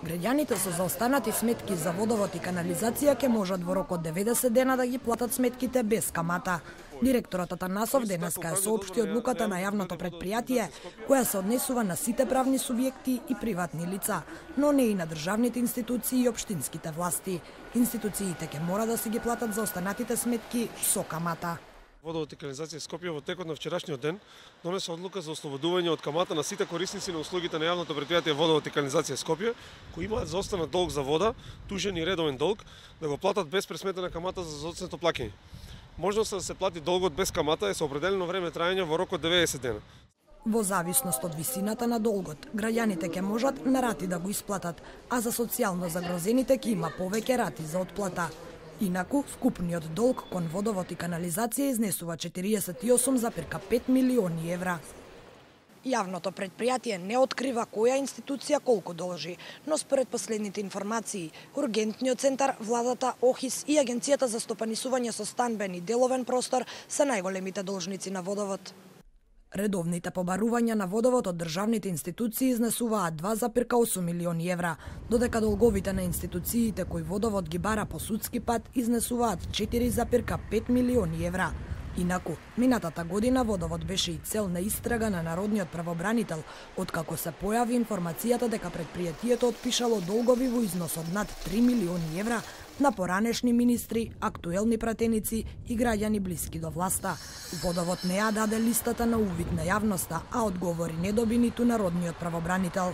Граѓаните со заостанати сметки за водовод и канализација ќе можат во рок од 90 дена да ги платат сметките без камата. Директорот Атанасов денеска ја соопшти одлуката на јавното претпријатие, која се однесува на сите правни субјекти и приватни лица, но не и на државните институции и општинските власти. Институциите ќе мора да си ги платат заостанатите сметки со камата. Водовод и канализација Скопје во текот на вчерашниот ден донесе одлука за ослободување од камата на сите корисници на услугите на јавното претпријатие Водовод и канализација Скопје, кои имаат заостанат долг за вода, тужен и редовен долг, да го платат без пресметена камата за зоцнето плаќање. Можноста да се плати долгот без камата е со определено време траење во рок од 90 дена. Во зависност од висината на долгот, граѓаните ќе можат на рати да го исплатат, а за социјално загрозените ќе има повеќе рати за отплата. Инаку, вкупниот долг кон водовод и канализација изнесува 48,5 милиони евра. Јавното претпријатие не открива која институција колку должи, но според последните информации, Ургентниот центар, владата, ОХИС и Агенцијата за стопанисување со станбен и деловен простор се најголемите должници на водовод. Редовните побарувања на водовод од државните институции изнесуваат 2,8 милиони евра, додека долговите на институциите кои водовод ги бара по судски пат изнесуваат 4,5 милиони евра. Инаку, минатата година водовод беше и цел на истрага на народниот правобранител, откако се појави информацијата дека претпријатието отпишало долгови во износ од над 3 милиони евра на поранешни министри, актуелни пратеници и граѓани блиски до власта. Водовод не ја даде листата на увид на јавноста, а одговори не доби ниту народниот правобранител.